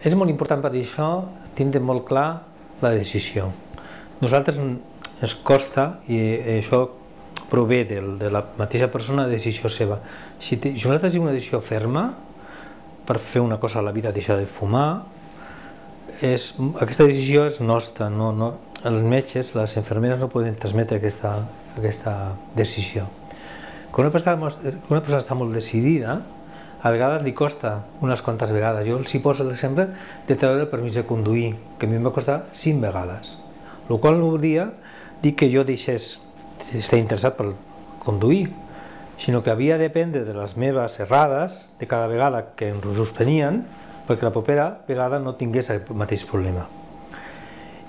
És molt important per això tindre molt clar la decisió. Nosaltres ens costa, i això prové de la mateixa persona, la decisió seva. Si nosaltres tenim una decisió ferma per fer una cosa a la vida, deixar de fumar, aquesta decisió és nostra. Els metges, les infermeres no poden transmetre aquesta decisió. Quan una persona està molt decidida, a vegades li costa unes quantes vegades. Jo els poso l'exemple de treure el permís de conduir, que a mi em va costar 5 vegades. El qual no volia dir que jo deixés d'estar interessat per conduir, sinó que havia de dependre de les meves errades de cada vegada que ens ho suspenien, perquè la propera vegada no tingués el mateix problema.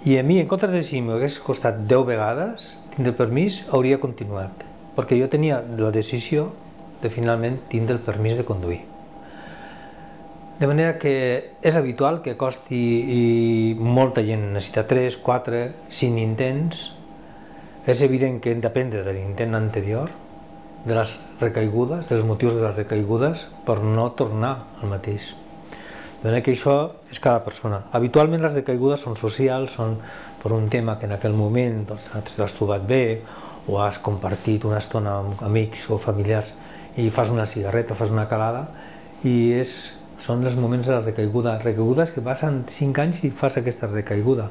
I a mi, en comptes de si m'hagués costat 10 vegades tindre el permís, hauria continuat, perquè jo tenia la decisió de finalment tindre el permís de conduir. De manera que és habitual que costi, i molta gent necessita 3, 4, 5 intents. És evident que hem d'aprendre de l'intent anterior, de les recaigudes, dels motius de les recaigudes, per no tornar al mateix. De manera que això és cada persona. Habitualment les recaigudes són socials, són per un tema que en aquell moment t'has trobat bé, o has compartit una estona amb amics o familiars i fas una cigarreta, fas una calada, i són els moments de la recaiguda. Recaigudes que passen 5 anys i fas aquesta recaiguda.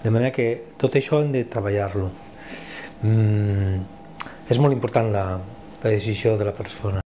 De manera que tot això hem de treballar-lo. És molt important la decisió de la persona.